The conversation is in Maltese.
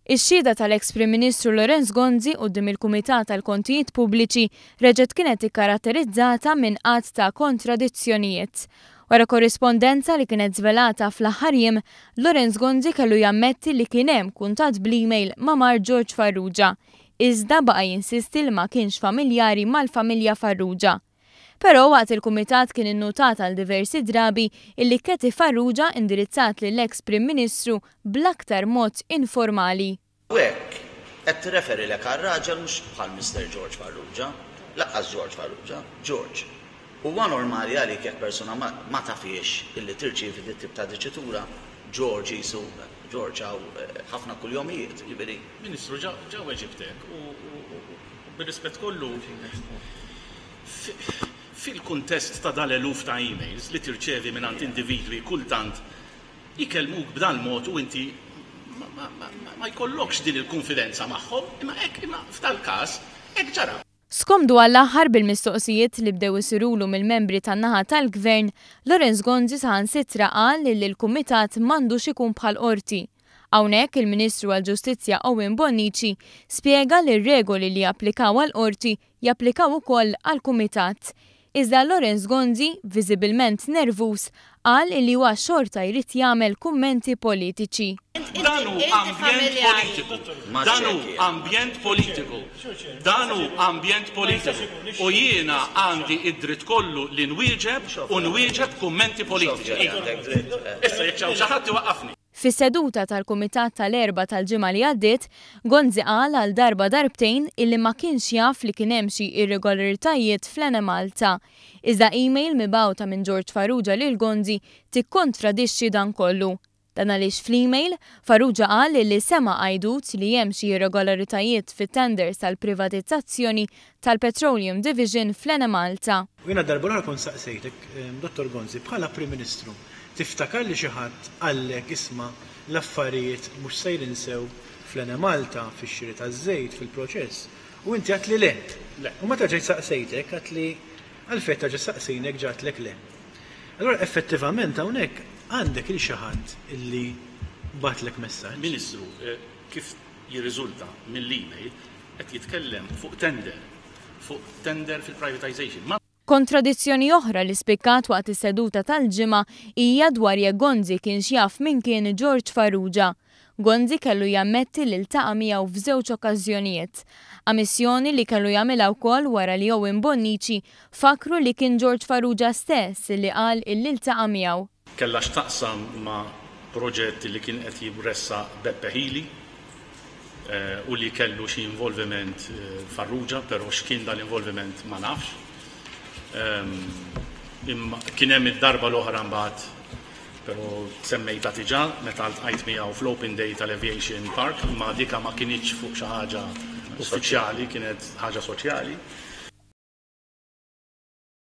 Ix-xhieda tal-eks Prim Ministru Lawrence Gonzi quddiem il-Kumitat għall-Kontijiet Pubbliċi reġgħet kienet ikkaratterizzata minn għadd ta' kontradizzjonijiet. Wara korrispondenza li kienet żvelata fl-aħħar jiem, Lawrence Gonzi kellu jammetti li kien hemm kuntatt bl-email ma' mart George Farrugia, iżda baqa' jinsisti li ma kienx familjari mal-familja Farrugia. Però waqt il-kumitat kien innutat għal diversi drabi illi Cathy Farrugia indirizzat lill-eks Prim Ministru bl-aktar mod informali. U hekk qed tirreferilek għar-raġel mhux bħal Mister George Farrugia, lanqas George Farrugia, George. Huwa normali għalik jekk persuna ma ma tafhiex illi tirċievi dit-tip ta' diċitura, George qisu George hawn ħafna kuljomijiet, jiġifieri. Ministru, ġa ġa weġibtek u u bir-rispett kollu Fil-kuntest ta' dal-eluf ta' emails li tirċevi mingħand individwi kultant jkellmuk b'dal-mod u inti ma jkollokx din il-kunfidenza magħhom, imma hekk, imma f'dal-każ hekk ġara. Skomdu għall-aħħar bil-mistoqsijiet li bdew isirulu mill-membri tan-naħa tal-Gvern, Lawrence Gonzi saħansitra qal li l-Kumitat m'għandux ikun bħal Qorti. Hawnhekk il-Ministru għall-Ġustizzja Owen Bonnici spjega li r-regoli li japplikaw għall-Qorti japplikaw ukoll għall-Kumitat. Iżda Lawrence Gonzi, viżibilment nervuż, qal illi huwa xorta jrid jagħmel kummenti politiċi. Dan hu ambjent politiku. Dan hu ambjent politiku. Dan hu ambjent politiku. U jiena għandi d-dritt kollu li nwieġeb u nwieġeb kummenti politiċi. Issa jekk hawn xi ħadd iwaqqafni. Fis-seduta tal-Kumitat tal-Erbgħa tal-ġimgħa li għaddiet, Gonzi qal għal darba darbtejn illi ma kienx jaf li kien hemm xi irregolaritajiet fl-Enemalta. Iżda email mibgħuta minn George Farrugia lil Gonzi tikkontradixxi dan kollu. Dan għaliex fl-email, Farrugia qal illi sema' għajdut li hemm xi irregolaritajiet fit-tenders tal-privatizzazzjoni tal-Petroleum Division fl-Enemalta. U jiena darba l-oħra kont saqsejtek, Dottor Gonzi, bħala Prim Ministru, Tiftakar li xi ħadd qallek isma' l-affarijiet mhux sejrin sew fl-Enemalta, fix-xiri taż-żejt, fil-proċess, u inti għedtli le. Le. U meta ġejt saqsejtek għedtli għalfejn terġa' ssaqsini jekk ġa għedtlek le. Allura effettivament hawnhekk għandek 'il xi ħadd illi bagħatlek messaġġ. Ministru, kif jirriżulta mill-email, qed jitkellem fuq tender, fuq tender fil-privatisation. Ma. Kontradizzjoni oħra li spikkat waqt is-seduta tal-Ġimgħa hija dwar jekk Gonzi kienx jaf min kien George Farrugia. Gonzi kellu jammetti li ltaqa' miegħu f'żewġ okkażjonijiet. Ammissjoni li kellu jagħmilha wkoll wara li Owen Bonnici fakkru li kien George Farrugia stess li qal illi ltaqa' miegħu. Kellha x'taqsam ma' proġett li kien qed jressaq Beppe Hili u li kellu xi involviment Farrugia, però x'kien dal-involviment ma nafx. Imma kien hemm id-darba l-oħra mbagħad, però semmejtha diġà, meta ltqajt miegħu fl-Open Day tal-Aviation Park, imma dika ma kinitx fuq xi ħaġa uffiċjali, kienet ħaġa soċjali.